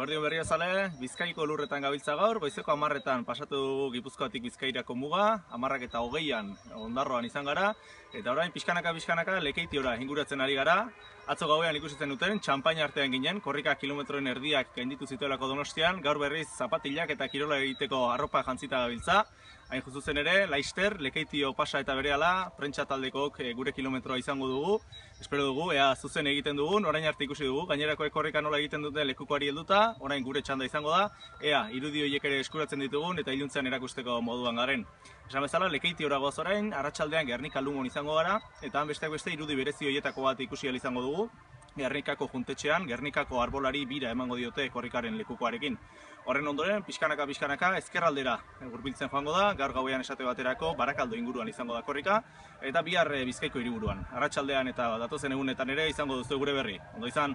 Eguerdion berriozale, Bizkaiko lurretan gabiltza gaur, goizeko 10etan pasatu dugu Gipuzkoatik Bizkairako muga, 10:20 Ondarroan izan gara, eta orain pixkanaka Lekeitiora inguratzen ari gara. Atzo gauean ikusitzen duten, txampaina artean ginen, korrika kilometroen erdiak gainditu zituelako Donostian, gaur berriz zapatilak eta kirola egiteko arropa jantzita gabiltza. Hain juzuzen ere, Laister, Lekeitio pasa eta berehala, prentsa taldekook gure kilometroa izango dugu. Espero dugu, ea zuzen egiten dugun, orain arte ikusi dugu, gainerakoek korrika nola egiten dute lekukoari helduta, orain gure txanda izango da, ea irudi horiek ere eskuratzen ditugun eta iluntzean erakusteko moduan garen. Esan bezala, Lekeitiora goaz orain, arratsaldean Gernika Lumon izango gara, eta han besteak beste irudi berezi horietako bat ikusi ahal izango dugu. Gernikako juntetxean, Gernikako arbolari bira emango diote korrikaren lekukoarekin. Horren ondoren, pixkanaka ezkerraldera hurbiltzen joango da, gaur gauean esate baterako Barakaldo inguruan izango da korrika, eta bihar Bizkaiko hiriburuan. Arratsaldean eta datozen egunetan ere izango duzu gure berri. Ondo izan!